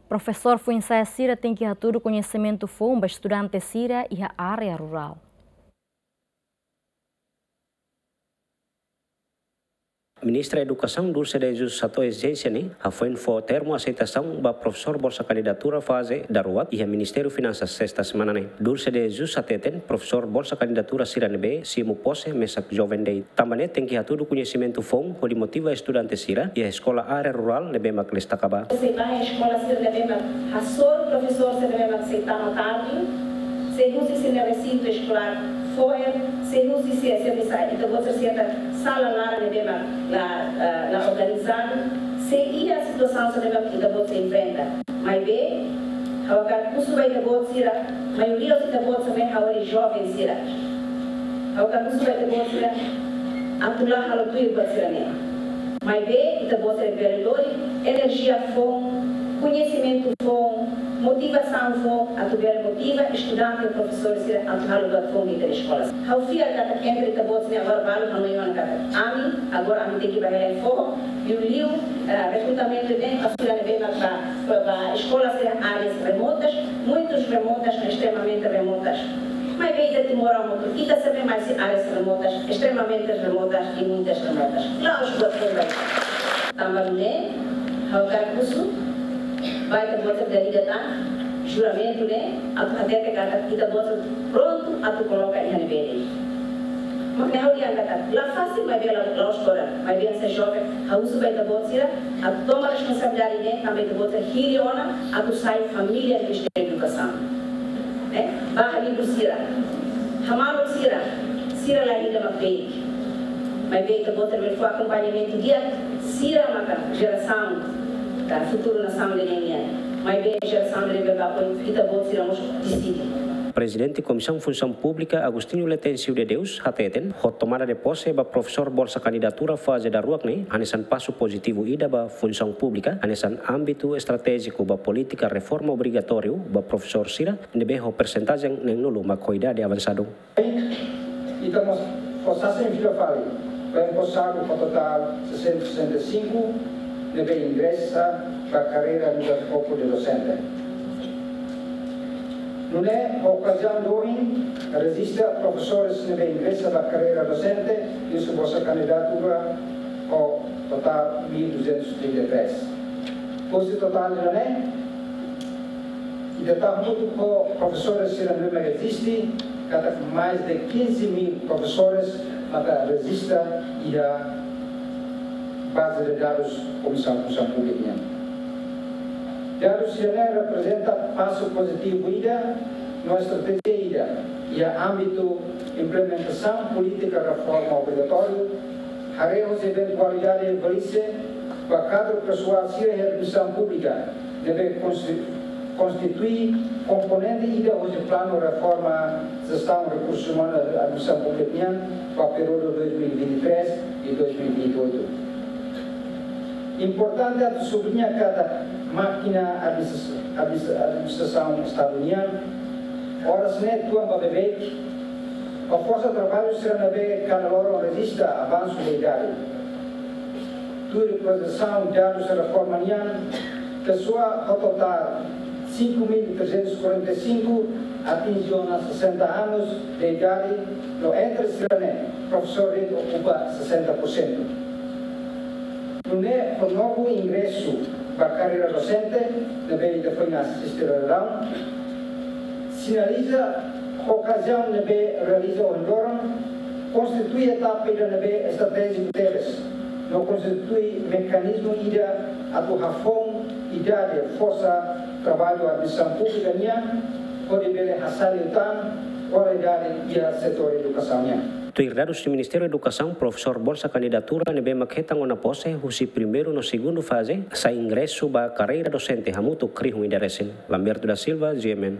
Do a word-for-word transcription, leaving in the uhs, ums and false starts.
Profesór foin-sa'e sira tenke hatudu koñesimentu foun ba estudante sira iha área rurál. Ministra Edukasaun Dulce de Jesus hato'o ezijénsia ne'e hafoin fó termu aseitasaun ba profesór bolsa kandidatura faze daruak iha Ministériu Finansas sesta semana ne'e. Dulce de Jesus hateten, profesór bolsa kandidatura sira ne'ebé simu pose mesak joven de'it. Tanba ne'e tenke hatudu koñesimentu foun hodi motiva estudante sira iha eskola área rurál ne'ebé mak destaka ba. Sei ba eskola sira ne'ebé mak hasoru profesór sira ne'ebé mak sei tama tarde, sei husi sira-nia resintu eskolár fo'er, sei husi sira, sira bisa, ita-boot sira, sira ta sala laran ne'ebé mak la, eh, la organizadu, sei iha situasaun sira ne'ebé mak ita-boot sira enfrenta. Maibé, ha'u hakarak husu ba ita-boot sira, maioria husi ita-boot sira ne'e agora joven sira. Ha'u hakarak husu ba ita-boot sira, atu la halo tuir buat sira-ne'e. Maibé, ita-boot sira bele lori enerjia foun, koñesimentu foun, motivasaun foun, atu bele motiva estudante, profesór sira atu halo buat foun iha eskola. Ha'u fiar katak entre ita-boot sira ne'e agora balu hanoin ona katak ami, agora ami tenke ba hela foho, liuliu, eh, rekrutamentu ne'e, ba sira ne'ebé mak ba, ba, ba eskola sira áreas remotas, muitas remotas, extremamente remotas. Maibé ita timoroan hotu, ita sempre mai husi áreas remotas, extremamente remotas e muitas remotas. La'ós buat foun ba ita. Tanba ne'e, ha'u hakarak husu ba ita-boot sira, ida-idak tan juramentu ne'e, atu hatete katak ita-boot sira prontu atu koloka iha ne'ebé de'it. Mak ne'e ha'u dehan katak la fasil, maibé la, la'ós kona, maibé hanesan joven, ha'u husu ba ita-boot sira atu toma responsabilidade ne'e, tanba ita-boot sira hili ona atu sai família Ministériu Edukasaun. Eh, ba ha'u husu sira, hamaluk sira, sira la ida mak beik. Maibé ita-boot sira bele fó akompañamentu di'ak, sira maka jerasaun, ah, futuru nasaun ida-ne'e nian. Maibé jerasaun ida-ne'ebé ba foin, ita-boot sira mós deside. Prezidente Komisaun Funsaun Públika Agostinho Letêncio de Deus hateten, ho tomada de pose ba profesór bolsa kandidatura faze daruak ne'e hanesan pasu pozitivu ida ba funsaun públika, hanesan ámbitu estratéjiku ba polítika reforma obrigatóriu ba profesór sira ne'ebé ho persentajen neen-nulu mak ho idade avansadun. Ita mós fó sasin fila fali ba emposadu ho totál seiscentos e sessenta e cinco ne'ebé ingresa ba karreira no corpo de docente. Nune'e, ho okaziaun doben, rejista profesores ne'ebé ingresa ba karreira dosente, husu bolsa kandidatura ho totál mil duzentos trinta e três. Husi totál ida-ne'e, ita tau hamutuk ho profesores sira ne'ebé eziste, katak mais de quinze mil profesores maka rejista iha baze de dadus Komisaun Funsaun Públika nian. Dadus sira-ne'e reprezenta pasu pozitivu ida no estratéjia ida iha ámbitu implementasaun polítika reforma obrigatóriu, haree hosi eventualidade velhice ba kadru pesoál sira iha administrasaun públika, ne'ebé konsti-, konstitui komponente ida hosi planu reforma jestaun rekursus umanus administrasaun públika nian ba períodu dois mil e vinte e três e dois mil e vinte e oito. Importante atu subliña katak mákina administra-, administra-, administrasaun Estadu nian oras ne'e tuan ba beibeik, ba forsa traballu sira ne'ebé kada loron rejista avansu de idade. Tuir projesaun dadus reforma nian, pesoál ho totál cinco mil trezentos e quarenta e cinco atinje ona sessenta anos de idade, no entre sira-ne'e, profesór de'it okupa sessenta por cento. Nune'e, ho novu ingresu ba karreira dosente, ne'ebé ita foin asiste daudaun, sinaliza okaziaun ne'ebé realiza ohin loron, konstitui etapa ida ne'ebé estratéjiku tebes, no konstitui mekanizmu ida atu hafoun idade forsa traballu administrasaun públika nian, hodi bele hasa'e liután kualidade iha setór edukasaun nian. Tuir dadus husi Ministériu Edukasaun, profesór bolsa kandidatura ne'ebé mak hetan ona pose husi primeiru no segundu faze, sai ingresu ba karreira dosente hamutuk rihun ida resin. Lamberto da Silva, G M N.